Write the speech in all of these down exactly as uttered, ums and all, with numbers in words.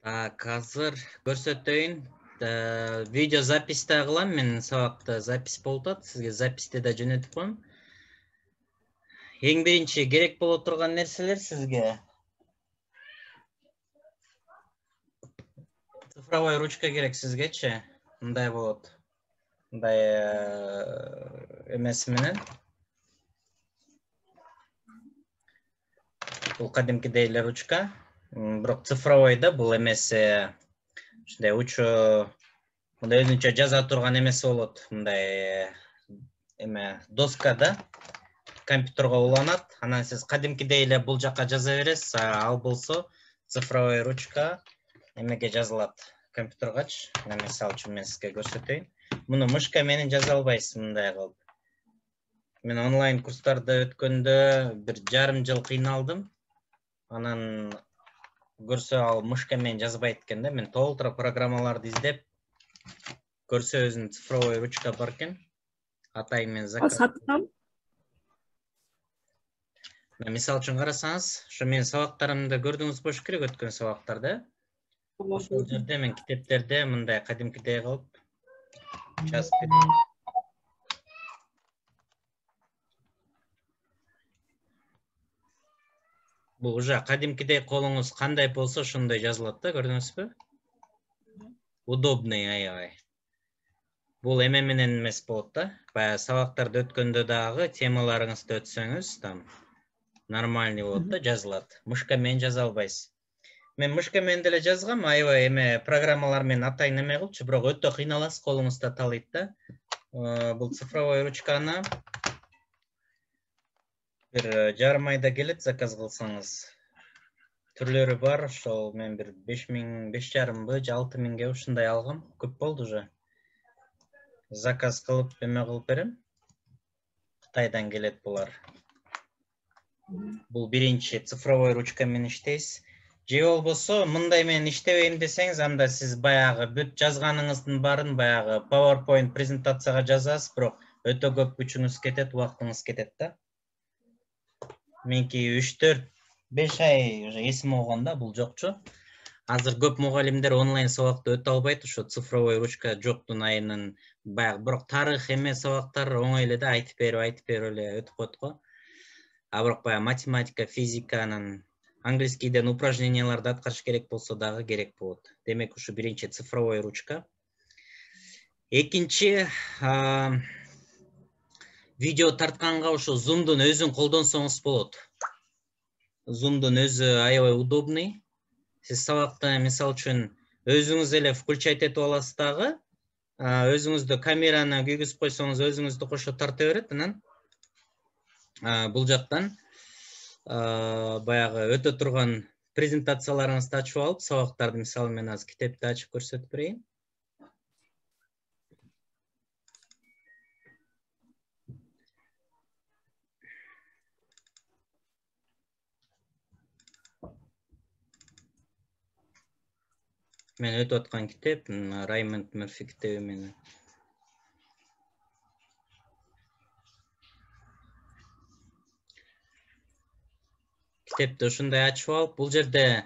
Так, азыр көрсөтөйүн. Видео записьте кылам, мен сабакта запись болуп атат. Сизге записьте да жөнөтүп коем. Эң биринчи керек боло турган нерселер сизге цифровой ручка керек сизгечи. Мындай болот. Мындай эмеси менен. Бул кадимкидей эле ручка. Бирок цифровой да, бул эмеси ушундай учу мындай өзүнчө жаза турган эмеси болот. Мындай эме доска да, компьютерге уланат. Анан сиз кадимкидей эле бул жака жаза бересиз, ал болсо цифровой ручка эмеге жазылат, компьютергачы. Мына мисалы үчүн мен сизге көрсөтөйүн. Муну мышка менен жаза албайсыз мындай кылып. Мен онлайн курстарда өткөндө бир жарым жыл кыйналдым. Анан көрсө ал мышка менен жазбайт экен да. Мен толтура программаларды издеп көрсө өзүнүн цифровой ручка бар экен. Атайын мен заказ. Сатам. Мисалы үчүн карасаңыз, ошо менин сабактарымды көрдүңүз болуш керек, өткөн сабактарда. Ошол жерде мен китептерде мындай кадимкидей кылып жазып бердим. Бул уже кадимкидей колуңуз кандай болсо ошондой жазылат да, көрдүңүзбү? Удобный, аябай. Бул эме менен эмес болот да. Баягы сабактарды өткөндө дагы темаларыңызды өтсөңүз, там нормальный болот да, жазылат. Мышка менен жаза албайсыз. Мен мышка менен деле жазгам, аябай эме программалар менен атайын эме кылчу, бирок өтө кыйналасыз, колуңузда таалайт да. Бул цифровой ручканы бир жарым айда келет, заказ кылсаңыз. Түрлөрү бар, ошол мен бир беш миң, беш жарымбы, же алты миңге ушундай алгам. Көп болду уже. Заказ кылып эме кылып берем. Кытайдан келет булар. Бул биринчи цифровой ручка менен иштейсиз. Же болбосо мындай менен иштебейм десеңиз, анда сиз баягы бүт жазганыңыздын баарын баягы PowerPoint презентацияга жазасыз, бирок өтө көп күчүңүз кетет, убактыңыз кетет да. Менки үч төрт беш ай уже эсим болгон да, бул жокчу. Азыр көп мугалимдер онлайн сабакты өтө албайт, ошо цифровой ручка жоктун айынан баягы бирок тарых эме сабактар оңой эле да, айтып берип, айтып берип эле өтүп коет го. А бирок баягы математика, физика, анан английскийден упражненияларды аткарыш керек болсо дагы керек болот. Демек, ушу биринчи цифровой ручка. Экинчи, видео тартканга ошо зумдун өзүн колдонсоңуз болот. Зумдун өзү аябай удобный. Сиз сабакта, мисалы үчүн, өзүңүз эле включать этип аласыз дагы, өзүңүздү камераны күйгүзүп койсоңуз, өзүңүздү кошо тарта берет, анан бул жактан баягы өтө турган презентацияларыңызды ачып алып, сабактарды, мисалы, мен азыр китепти ачып көрсөтүп берейин. Мен өтүп аткан китеп Раймонд Мерфи китеби менен. Китепти ушундай ачып алып, бул жерде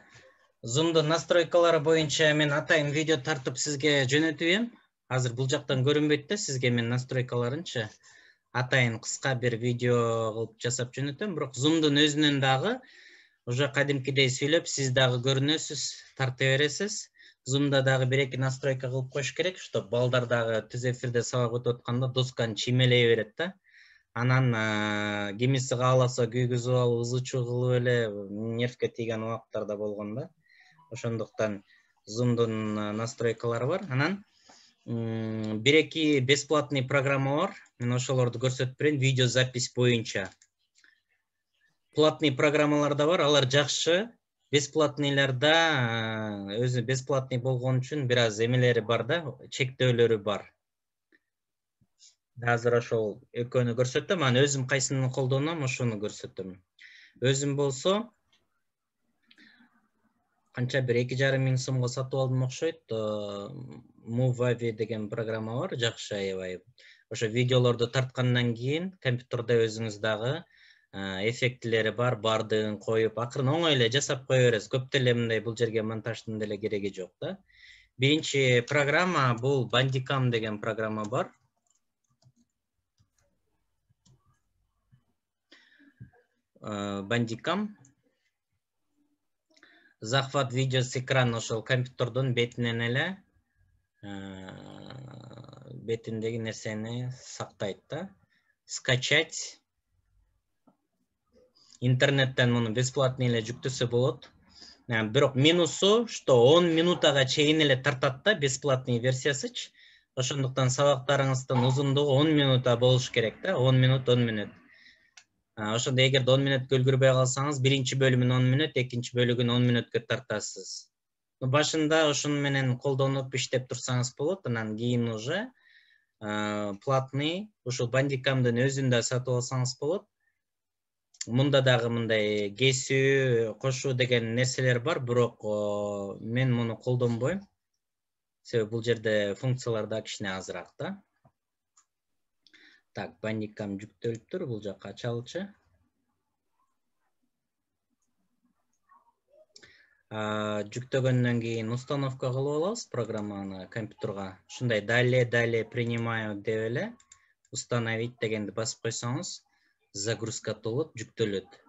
зумдун настройкалары боюнча мен атайын видео тартып сизге жөнөтүп ем. Азыр бул жактан көрүнбөйт да, сизге мен настройкаларынчы атайын кыска бир видео кылып жасап жөнөтөм, бирок зумдун өзүнөн дагы уже кадимкидей сүйлөп, сиз дагы көрүнөсүз, тарта бересиз. Зумда дагы бир-эки настройка кылып коюш керек, чтоб балдар дагы түз эфирде сабак өтүп атканда досканы чиймелей берет да. Анан кимиси кааласа күйгүзүп алып, ызы-чуу кылып эле нервке тийген убакыттар да болгон да. Ошондуктан зумдун настройкалары бар. Анан бир-эки бесплатный программа бар. Мен ошолорду көрсөтүп берейин видео запись боюнча. Платный программалар да бар, алар жакшы. Бесплатныйларда өзү бесплатный болгон үчүн бир аз эмелери бар да, чектөөлөрү бар. Азыр ошол экөөнү көрсөтөм, анан өзүм кайсыны колдоном, ошону көрсөтөм. Өзүм болсо канча бир эки жарым миң сомго сатып алдым окшойт. Movavi деген программа бар, жакшы аябай. Ошо видеолорду тарткандан кийин компьютерде өзүңүз дагы эффектилери бар, бардыгын коюп, акырын оңой эле жасап кое бересиз. Көп деле мындай бул жерге монтаждын деле кереги жок да. Биринчи программа бул Bandicam деген программа бар. Bandicam захват видео с экрана, ошол компьютердун бетинен эле бетиндеги нерсени сактайт да. Скачать интернеттен муну бесплатный эле жүктөсө болот. Бирок минусу, что он минутага чейин эле тартат да, бесплатный версиясычы. Ошондуктан сабактарыңыздын узундугу он минута болуш керек да, он минут, он минут. Ошондо эгерде он минутка үлгүрбөй калсаңыз, биринчи бөлүмүн он минут, экинчи бөлүгүн он минутка тартасыз. Башында ошону менен колдонуп иштеп турсаңыз болот, анан кийин уже платный ушул Bandicamдын өзүн да сатып алсаңыз болот. Мында дагы мындай кесүү, кошуу деген нерселер бар, бирок мен муну колдонбойм. Себеби бул жерде функциялар да кичине азыраак да. Так, Bandicam жүктөлүптүр, бул жакка ачалычы. Жүктөгөндөн кийин установка кылып алабыз программаны компьютерга. Ушундай далее, далее принимаю деп эле установить дегенди басып койсоңуз, загрузка болот, жүктөлөт.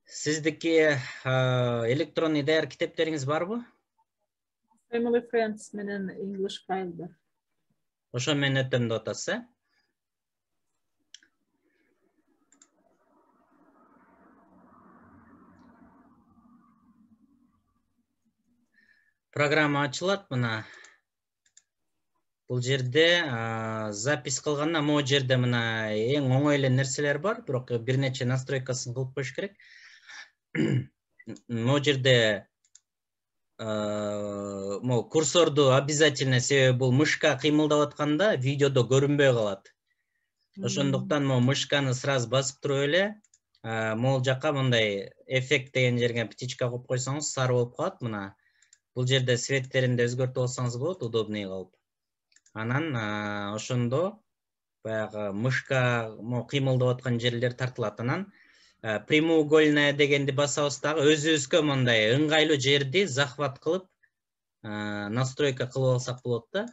Сиздики электронный даяр китептериңиз барбы? Family Friends менен English file бар. Ошо менен өтөм деп атасыз, э? Программа ачылат мына. Бул жерде запись кылганда могу жерде мына эң оңой эле нерселер бар, бирок бир нече настройкасын кылып коюш керек. Могу жерде могу курсорду обязательно, себеби бул мышка кыймылдап атканда видеодо көрүнбөй калат. Ошондуктан могу мышканы сразу басып туруп эле могул жакка мындай эффект деген жерге птичка коюп койсоңуз сары болуп калат мына. Бул жерде светтерин да өзгөртүп алсаңыз болот, удобный кылып. Анан ошондо баягы мышка кыймылдап аткан жерлер тартылат. Анан прямоугольная дегенди басабыз дагы өзүбүзгө мындай ыңгайлуу жерди захват кылып настройка кылып алсак болот да.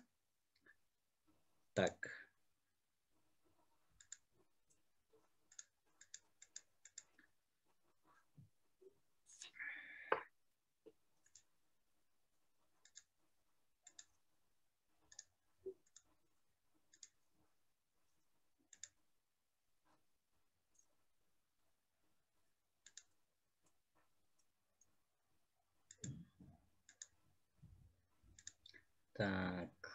Так. Так.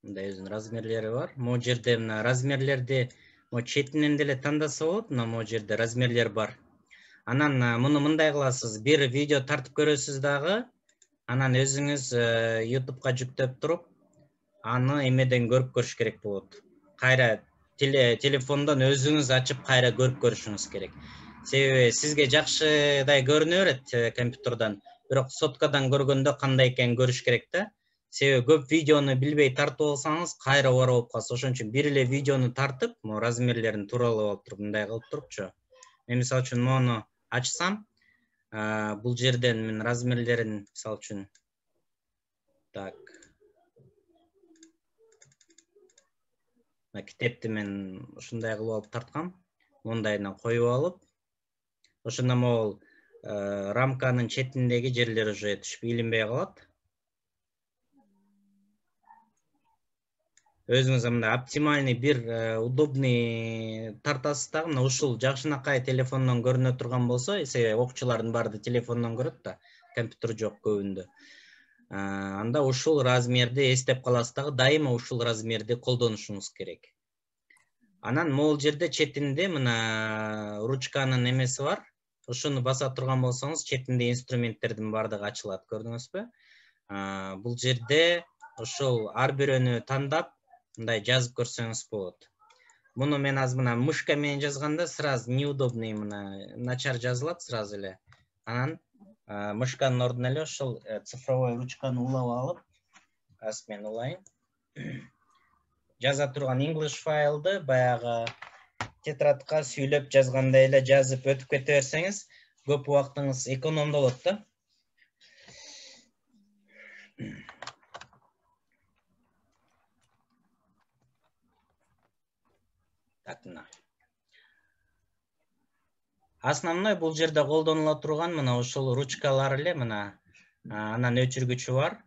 Мындай өзүнүн размерлери бар. Могу жерде мына размерлерди могу четинен деле тандаса болот, мына могу жерде размерлер бар. Анан муну мындай кыласыз, бир видео тартып көрөсүз дагы, анан өзүңүз YouTubeга жүктөп туруп, аны эмеден көрүп көрүш керек болот. Кайра телефондон өзүңүз ачып кайра көрүп көрүшүңүз керек. Себеби сизге жакшыдай көрүнө берет компьютердон, бирок соткадан көргөндө кандай экенин көрүш керек да. Себеби көп видеону билбей тартып алсаңыз, кайра бар болуп калат. Ошон үчүн бир эле видеону тартып, могу размерлерин тууралап алып туруп, мындай кылып турупчу. Мен мисалы үчүн мону ачсам, бул жерден мен размерлерин мисалы үчүн так. Китепти мен ушундай кылып алып тарткам. Мондайына коюп алып, ошондо могул рамканын четиндеги жерлер уже түшүп илинбей калат. Өзүңүз мындай оптимальный бир удобный тартасыз дагы, мына ушул жакшынакай телефондон көрүнө турган болсо, себеби окуучулардын баары телефондон көрөт да, компьютер жок көбүндө. Анда ушул размерди эстеп каласыз дагы, дайыма ушул размерди колдонушуңуз керек. Анан могул жерде четинде мына ручканын эмеси бар. Ошону баса турган болсоңуз, четинде инструменттердин баардыгы ачылат, көрдүңүзбү? Бул жерде ошол ар бирөөнү тандап, мындай жазып көрсөңүз болот. Муну мен азыр мына мышка менен жазганда сразу неудобный, мына начар жазылат сразу эле. Анан мышканын ордуна эле ошол цифровой ручканы улап алып, азыр мен улайын. жаза турган English файлды баягы тетрадка сүйлөп жазгандай эле жазып өтүп кете берсеңиз, көп убактыңыз экономдолот да. Так, мына. Основной бул жерде колдонула турган мына ушул ручкалар эле, мына. Анан өчүргүчү бар.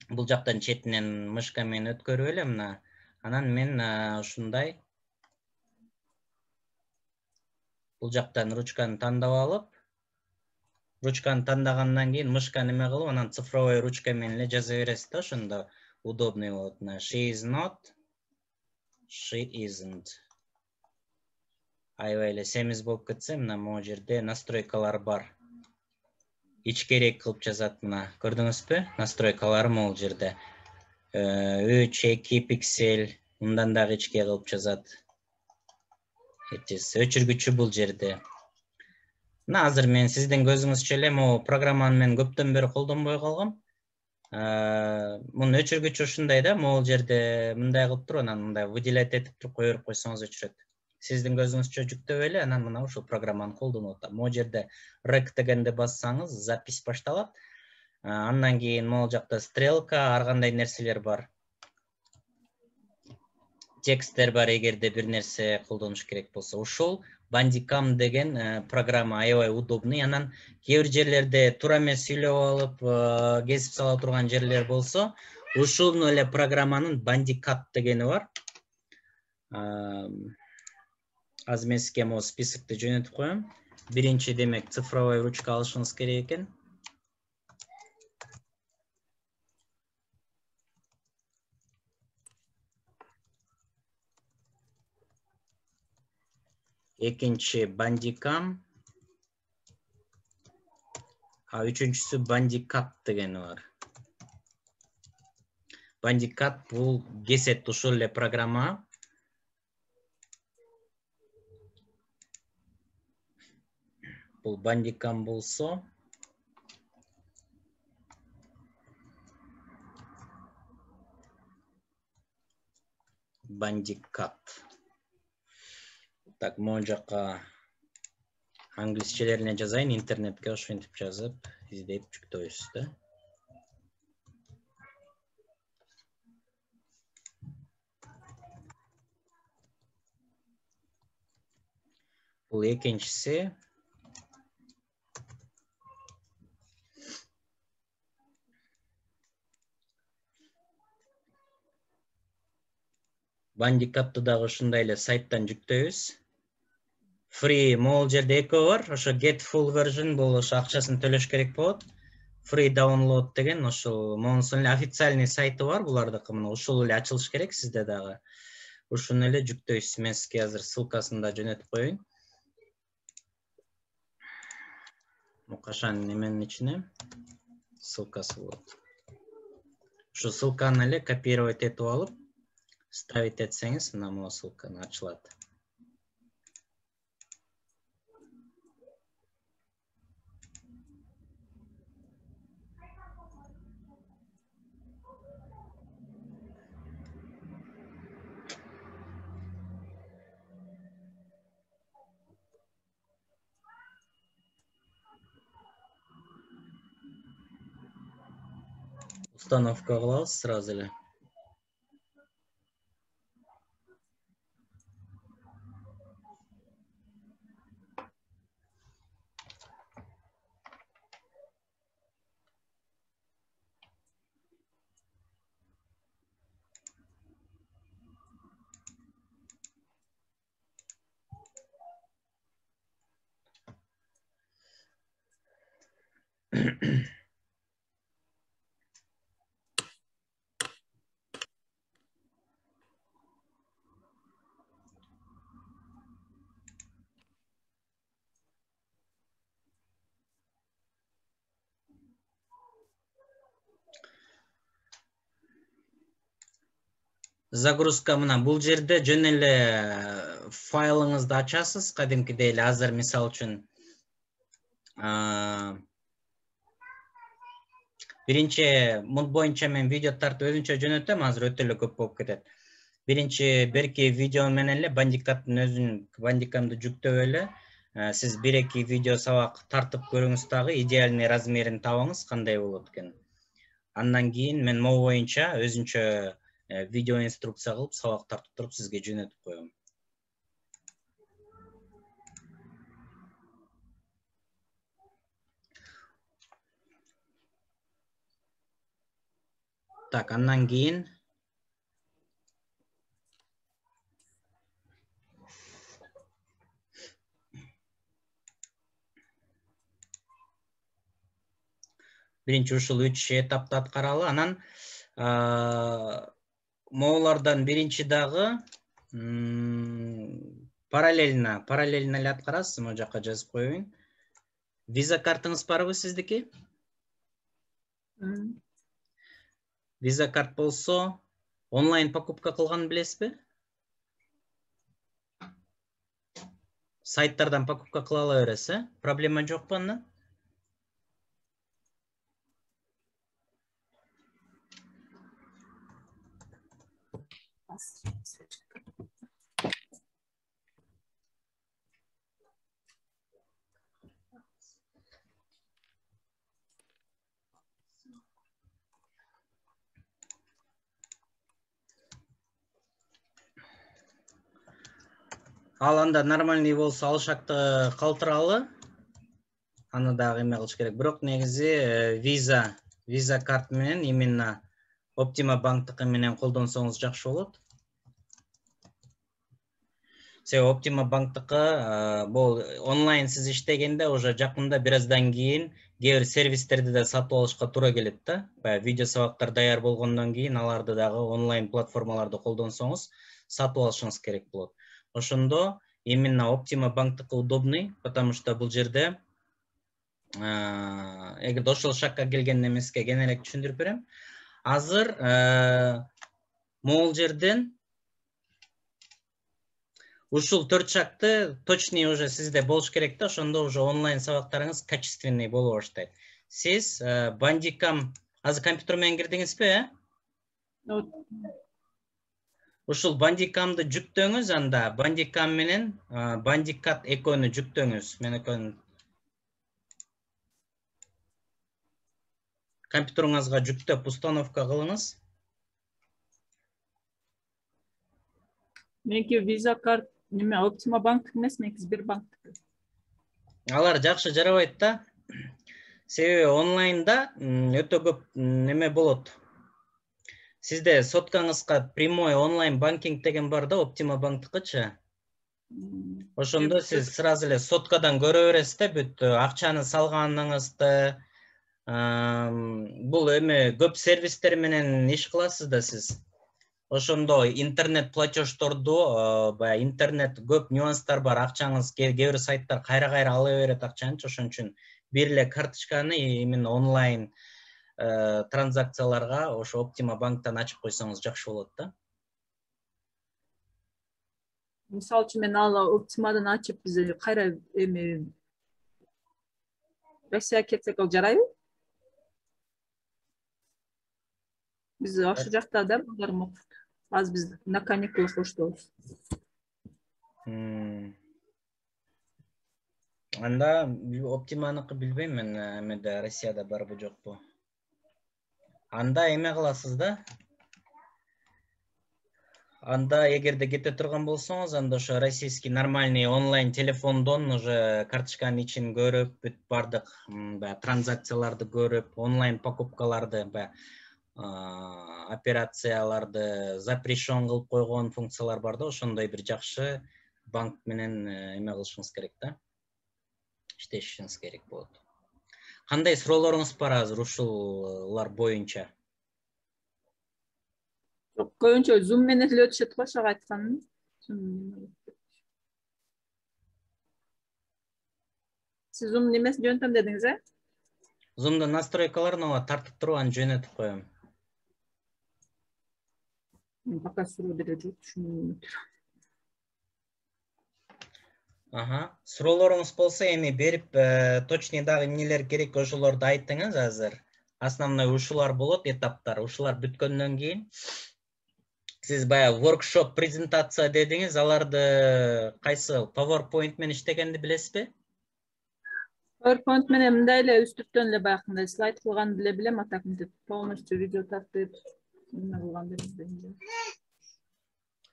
Бул жактан четинен мышка менен өткөрүп эле мына. Анан мен ушундай бул жактан ручканы тандап алып, ручканы тандагандан кийин мышка неме кылып, анан цифровой ручка менен эле жаза бересиз да, ошондо удобный болот. She is not, she isn't. Аябай эле семиз болуп кетсе, мына могу жерде настройкалар бар. Ичкерээк кылып жазат мына. Көрдүңүзбү? Настройкалары могу жерде. үч эки пиксель, мындан дагы ичке кылып жазат. Өчүргүчү бул жерде. Мына азыр мен сиздин көзүңүзчө эле могу программаны мен көптөн бери колдонбой калгам. Мунун өчүргүчү ушундай да, могу жерде мындай кылып туруп, анан мындай выделять этип туруп кое берип койсоңуз өчүрөт. Сиздин көзүңүзчө жүктөп эле, анан мына ушул программаны колдонуп атам. Могу жерде рек дегенди бассаңыз, запись башталат. Андан кийин могу жакта стрелка, ар кандай нерселер бар. Тексттер бар, эгерде бир нерсе колдонуш керек болсо. Ушул Bandicam деген программа аябай удобный. Анан кээ бир жерлерде туура эмес сүйлөп алып, кесип сала турган жерлер болсо, ушул эле программанын Bandicat дегени бар. Азыр мен сизге могу списокты жөнөтүп коем. Биринчи демек цифровой ручка алышыңыз керек экен. Экинчи Bandicam. А үчүнчүсү Bandicat дегени бар. Bandicat бул кесет ушул эле программа. Бул Bandicam болсо, Bandicat. Так, могу жакка англисчелерине жазайын, интернетке ошентип жазып, издеп жүктөйсүз да. Бул экинчиси. Bandicatты дагы ушундай эле сайттан жүктөйбүз. Free могул жерде экөө бар. Ошо get full version бул ошо акчасын төлөш керек болот. Free download деген ошол могунун эле официальный сайты бар булардыкы. Мына ушул эле ачылыш керек сизде дагы. Ушуну эле жүктөйсүз. Мен сизге азыр ссылкасын да жөнөтүп коеюн. Кашан неменин ичине ссылкасы болот. Ушу ссылканы эле копировать этип алып, ставить этсеңиз, мына могу ссылканы ачылат. Установка кылабыз сразу эле. Загрузка мына бул жерде жөн эле файлыңызды ачасыз, кадимкидей эле. Азыр мисалы үчүн Биринчи муну боюнча мен видео тартып өзүнчө жөнөтөм, азыр өтө эле көп болуп кетет. Биринчи берки видео менен эле бандикаттын өзүн, бандикамды жүктөп эле сиз бир эки видео сабак тартып көрүңүз дагы, идеальный размерин табыңыз, кандай болот экен. Андан кийин мен могу боюнча өзүнчө видео инструкция кылып сабак тартып туруп сизге жөнөтүп коем. Так, андан кийин биринчи ушул үч этапты аткаралы, анан могулардан биринчи дагы параллельно, параллельно эле аткарасыз, могу жакка жазып коеюн. Виза картыңыз барбы сиздики? Виза карт болсо, онлайн покупка кылганын билесизби? Сайттардан покупка кыла ала бересиз, э? Проблема жокпу андан? Ал анда нормальный болсо алшакты калтыралы. Аны дагы эме кылыш керек. Бирок негизи виза, виза карт менен именно Optima банктыкы менен колдонсоңуз жакшы болот. Себеби Optima банктыкы бул онлайн сиз иштегенде уже жакында бир аздан кийин кээ бир сервистерди да сатып алышка туура келет да. Баягы видео сабактар даяр болгондон кийин аларды дагы онлайн платформаларды колдонсоңуз сатып алышыңыз керек болот. Ошондо именно Optima банктыкы удобный, потому что бул жерде эгерде ошол шакка келген эмеске кененирээк түшүндүрүп берем. Азыр могул жерден ушул төрт шакты точный уже сизде болуш керек да, ошондо уже онлайн сабактарыңыз качественный боло баштайт. Сиз бандикам азыр компьютер менен кирдиңизби, э? Ушул бандикамды жүктөңүз, анда бандикам менен бандикат экөөнү жүктөңүз. Мен экөөнү компьютериңизга жүктөп установка кылыңыз. Меники виза карт неме Optima банк эмес, меники Сбербанк. Алар жакшы жарабайт да. Себеби онлайнда өтө көп неме болот. Сизде соткаңызга прямой онлайн банкинг деген бар да, Optima банктыкычы. Ошондо сиз сразу эле соткадан көрө бересиз да, бүт акчаны салганыңызды. Бул эме көп сервистер менен иш кыласыз да сиз. Ошондо интернет платеждорду, баягы интернет көп нюанстар бар, акчаңыз кээ бир сайттар кайра-кайра ала берет акчанычы, ошон үчүн бир эле карточканы именно онлайн транзакцияларга ошо Optima банктан ачып койсоңуз жакшы болот да. Мисалы үчүн мен ал Optimaдан ачып биз кайра эме Россияга кетсек ал жарайбы? Биз ошол жакта да балдарым окуйт. Азыр биз на каникулах оштобуз. Анда Optima'nыкы билбейм мен, эмеде Россияда барбы жокпу. Анда эме кыласыз да. Анда эгерде кете турган болсоңуз, анда ошо российский нормальный онлайн телефондон уже карточканын ичин көрүп, бүт бардык баягы транзакцияларды көрүп, онлайн покупкаларды, баягы операцияларды запрещен кылып койгон функциялар бар да, ошондой бир жакшы банк менен эме кылышыңыз керек да. Иштешиңиз керек болот. Кандай суроолоруңуз бар азыр ушулар боюнча? Жок, көбүнчө Zoom менен эле өтүшөт го, ошого айтканым. Сиз Zoom немесин жөнөтөм дедиңиз, э? Zoom'дун настройкаларын ооба тартып туруп аны жөнөтүп коем. Мен пока суроо бере жок, түшүнбөйм. Аха, суроолоруңуз болсо эми берип, точный дагы эмнелер керек ошолорду айтыңыз азыр. основной ушулар болот, этаптар. Ушулар бүткөндөн кийин сиз баягы workshop презентация дедиңиз, аларды кайсы PowerPoint менен иштегенди билесизби? PowerPoint менен мындай эле үстүртөн эле баягындай слайд кылганды эле билем, а так мынтип полностью видео тартып эмне кылганды билбейм.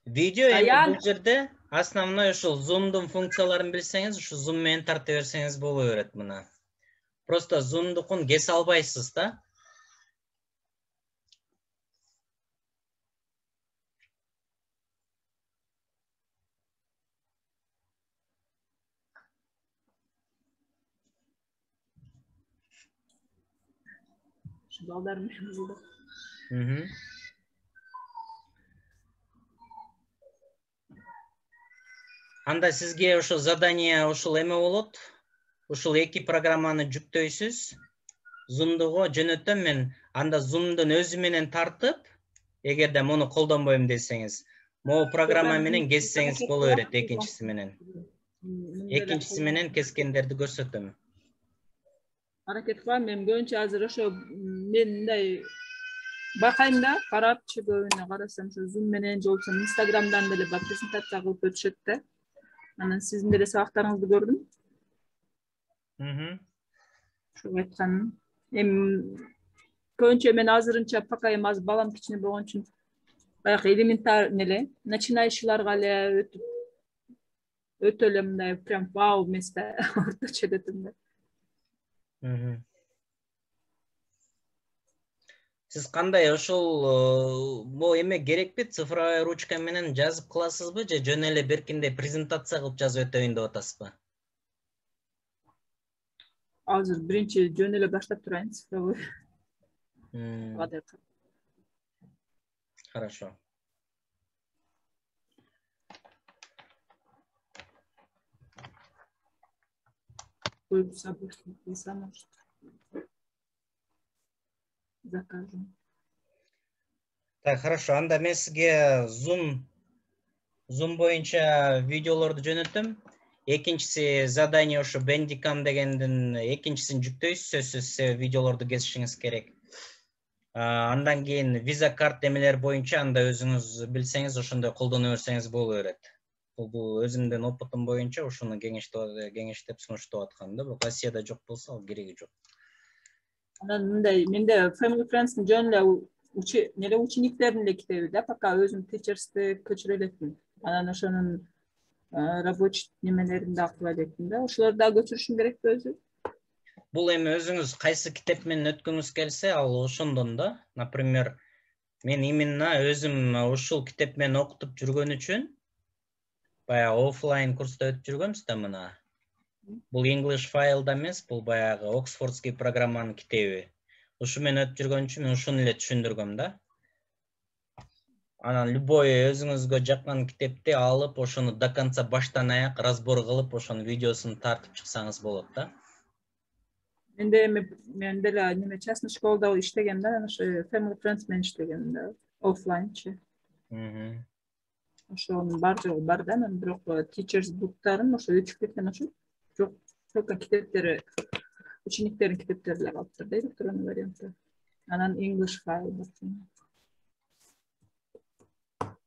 Видео эми бул жерде основной ушул Zoom'дун функцияларын билсеңиз, ушу Zoom менен тарта берсеңиз боло берет мына. Просто Zoom'дукун кесе албайсыз да. Şu balдар менен булду. Мхм. Анда сизге ошо задание ушул эме болот. Ушул эки программаны жүктөйсүз. Zoom'дуго жөнөтөм мен. Анда Zoom'дун өзү менен тартып, эгерде муну колдонбойм десеңиз, могу программа менен кессеңиз боло берет экинчиси менен. Экинчиси менен кескендерди көрсөтөм. Аракет кылам, мен көбүнчө азыр ошо мен мындай бакайм да, карапчы көбүнө карасам, ошо Zoom менен же болбосо Instagram'дан деле бар презентация кылып өтүшөт да. Анан сиздин деле сабактарыңызды көрдүм. Мхм. Ошо айтканым. Эми көбүнчө мен азырынча пока эми азыр балам кичине болгон үчүн баягы элементарный эле, начинающийларга эле өтүп өтө эле мындай прям вау эмес да, орточо өтөм да. Мхм. Сиз кандай ошол бул эме керекпи? Цифровой ручка менен жазып кыласызбы же жөн эле беркиндей презентация кылып жазып өтөйүн деп атасызбы? Азыр биринчи жөн эле баштап турайын цифровой. Хорошо. Ой, собой сам закажем. Так, хорошо. Анда мен сизге Zoom Zoom боюнча видеолорду жөнөтөм. Экинчиси задание ошо Bandicam дегендин экинчисин жүктөйсүз, сөзсүз себеби видеолорду кесишиңиз керек. Андан кийин виза карт эмелер боюнча анда өзүңүз билсеңиз, ошондой колдоно берсеңиз боло берет. Бул өзүмдүн опытым боюнча ушуну кеңештеп кеңештеп сунуштап аткам да. Бирок Россияда жок болсо, ал кереги жок. Анан мындай, менде Family Friends'ин жөн эле неле учениктердин эле китеби да, пока өзүм Teachers'ты көчүрө элекмин. Анан ошонун рабочий немелерин да кыла элекмин да. Ошолорду да көчүрүшүм керекпи өзү? Бул эми өзүңүз кайсы китеп менен өткүңүз келсе, ал ошондон да. Например, мен именно өзүм ушул китеп менен окутуп жүргөн үчүн баягы офлайн курста өтүп жүргөнбүз да мына. Бул English файлда эмес, бул баягы Оксфордский программанын китеби. Ушу менен өтүп жүргөн үчүн мен ушуну эле түшүндүргөм да. Анан любой өзүңүзгө жаккан китепти алып, ошону до конца баштан аяк разбор кылып, ошонун видеосун тартып чыксаңыз болот да. Менде эми мен деле неме частный школада иштегем да, ошо Family Friends менен иштегем да, офлайнчы. Мхм. Ошонун бар жогу бар да, мен бирок Teachers буктарын ошо өчүп кеткен ошо. Жок, только китептери, учениктердин китептери эле калыптыр да, электронный вариантта. Анан English файл бар.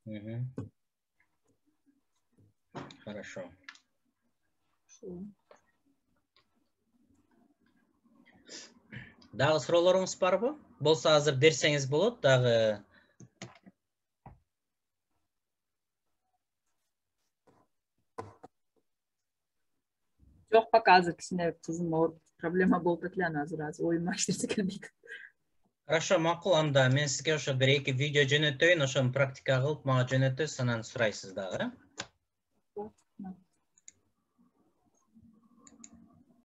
Мхм. Хорошо. Дагы суроолоруңуз барбы? Болсо азыр берсеңиз болот, дагы. Жок, пока азыр кичине кызым ооруп проблема болуп эле, анан азыр азыр оюма эч нерсе келбейт. Хорошо, макул, анда мен сизге ошо бир эки видео жөнөтөйүн, ошону практика кылып мага жөнөтөсүз, анан сурайсыз дагы.